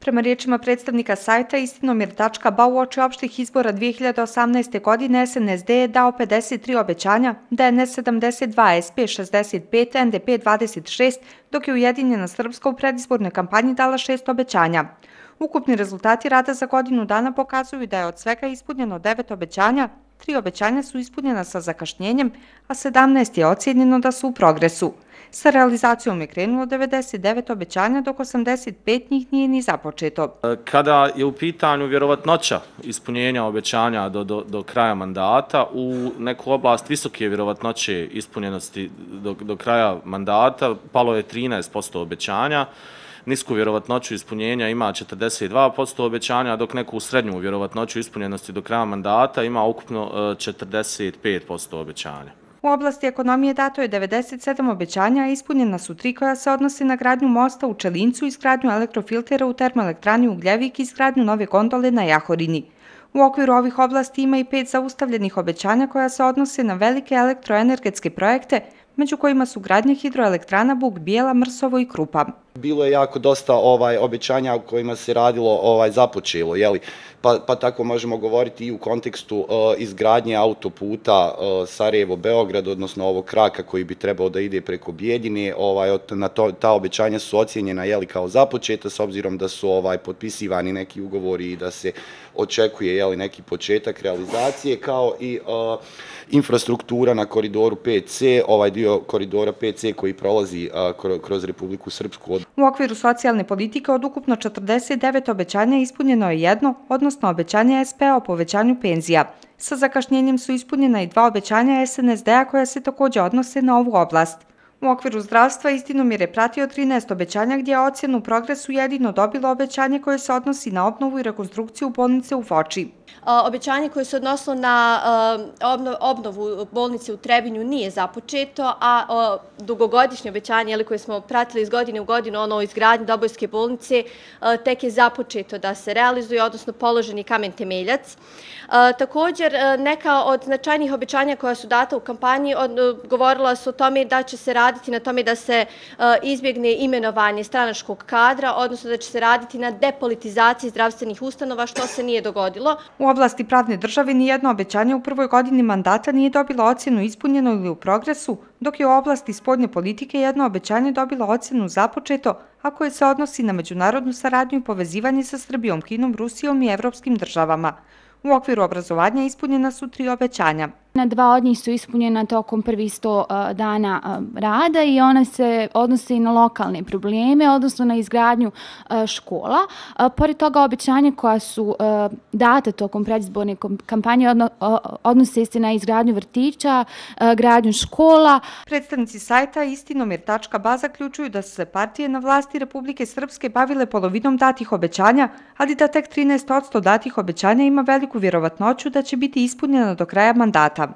Prema riječima predstavnika sajta istinomir.ba uoči opštih izbora 2018. godine SNSD je dao 53 obećanja, DNS 72, SP 65, NDP 26, dok je Ujedinjena Srpska u predizbornoj kampanji dala 6 obećanja. Ukupni rezultati rada za godinu dana pokazuju da je od svega ispunjeno 9 obećanja, 3 obećanja su ispunjena sa zakašnjenjem, a 17 je ocijenjeno da su u progresu. Sa realizacijom je krenulo 99 obećanja, dok 85 njih nije ni započeto. Kada je u pitanju vjerovatnoća ispunjenja obećanja do kraja mandata, u neku oblast visoke vjerovatnoće ispunjenosti do kraja mandata palo je 13% obećanja, nisku vjerovatnoću ispunjenja ima 42% obećanja, dok neku srednju vjerovatnoću ispunjenosti do kraja mandata ima ukupno 45% obećanja. U oblasti ekonomije dato je 97 obećanja, a ispunjena su 3 koja se odnose na gradnju mosta u Čelincu, izgradnju elektrofiltera u termoelektrani Ugljevik i izgradnju nove gondole na Jahorini. U okviru ovih oblasti ima i 5 zaustavljenih obećanja koja se odnose na velike elektroenergetske projekte, među kojima su gradnje hidroelektrana Buk Bijela, Mrsovo i Krupa. Bilo je jako dosta obećanja u kojima se radilo započelo, pa tako možemo govoriti i u kontekstu izgradnje autoputa Sarajevo-Beograd, odnosno ovog kraka koji bi trebao da ide preko Bijeljine. Ta obećanja su ocijenjena kao započeta, s obzirom da su potpisivani neki ugovori i da se očekuje neki početak realizacije, kao i infrastruktura na koridoru 5C, ovaj dio koridora 5C koji prolazi kroz Republiku Srpsku. U okviru socijalne politike od ukupno 49 obećanja ispunjeno je 1, odnosno obećanje SP-a o povećanju penzija. Sa zakašnjenjem su ispunjena i 2 obećanja SNSD-a koja se također odnose na ovu oblast. U okviru zdravstva Istinomir je pratio 13 obećanja gdje je ocjenu u progresu jedino dobilo obećanje koje se odnosi na obnovu i rekonstrukciju bolnice u Foči. Obećanje koje se odnosilo na obnovu bolnice u Trebinju nije započeto, a dugogodišnje obećanje koje smo pratili iz godine u godinu, ono o izgradnji Dobojske bolnice, tek je započeto da se realizuje, odnosno položen je kamen temeljac. Također, neka od značajnijih obećanja koja su data u kampanji govorila su o tome da će se raditi na tome da se izbjegne imenovanje stranačkog kadra, odnosno da će se raditi na depolitizaciji zdravstvenih ustanova, što se nije dogodilo. U oblasti pravne države nijedno obećanje u prvoj godini mandata nije dobilo ocjenu ispunjeno ili u progresu, dok je u oblasti spoljne politike jedno obećanje dobilo ocjenu započeto, a koje se odnosi na međunarodnu saradnju i povezivanje sa Srbijom, Kinom, Rusijom i evropskim državama. U okviru obrazovanja ispunjena su 3 obećanja. 2 od njih su ispunjena tokom prvih 100 dana rada i ona se odnose i na lokalne probleme, odnosno na izgradnju škola. Pored toga, obećanja koja su data tokom predizborne kampanje odnose se na izgradnju vrtića, gradnju škola. Predstavnici sajta istinomir.ba zaključuju da su se partije na vlasti Republike Srpske bavile polovinom datih obećanja, ali da tek 13% datih obećanja ima veliku vjerovatnoću da će biti ispunjena do kraja mandata.